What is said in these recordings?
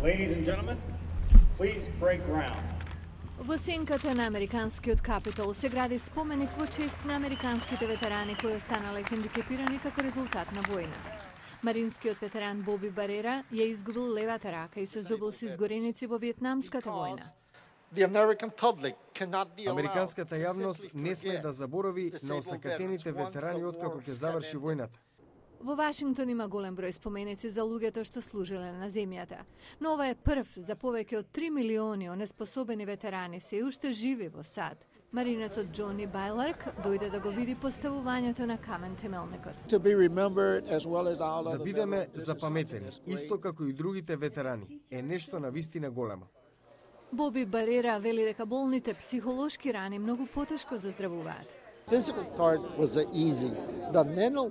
Ladies and gentlemen, please break ground. Во сенката на американскиот Капитол се гради споменик во чест на американските ветерани кои останале хендикепирани како резултат на војна. Маринскиот ветеран Боби Барера ја изгубил левата рака и се здобил со изгореници во Виетнамската војна. Американската јавност не сме да заборови на осакатените ветерани откако ќе заврши војната. Во Вашингтон има голем број споменици за луѓето што служиле на земјата, но ова е прв за повеќе од 3 милиони онеспособени ветерани се уште живи во САД. Маринецот Џони Байларк дојде да го види поставувањето на камен темелникот. Да бидеме запаметени, исто како и другите ветерани, е нешто навистина големо. Боби Барера вели дека болните психолошки рани многу потешко заздравуваат.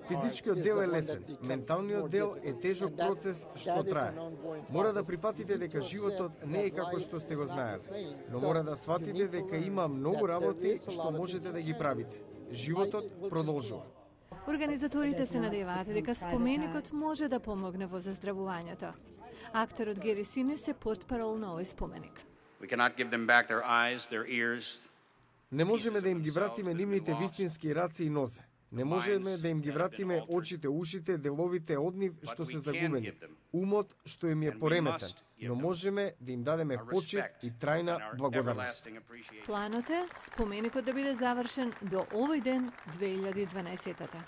Физичкиот дел е лесен, менталниот дел е тежок процес што трае. Мора да прифатите дека животот не е како што сте го знаеле, но мора да сватите дека има многу работи што можете да ги правите. Животот продолжува. Организаторите се надеваат дека споменикот може да помогне во заздравувањето. Акторот Гери Синес е портпарол на овој споменик. Не можеме да им ги вратиме нивните вистински раци и нозе. Не можеме да им ги вратиме очите, ушите, деловите од нив што се загубени, умот што им е пореметен, но можеме да им дадеме почит и трајна благодарност. Планот е споменикот да биде завршен до овој ден 2012-та.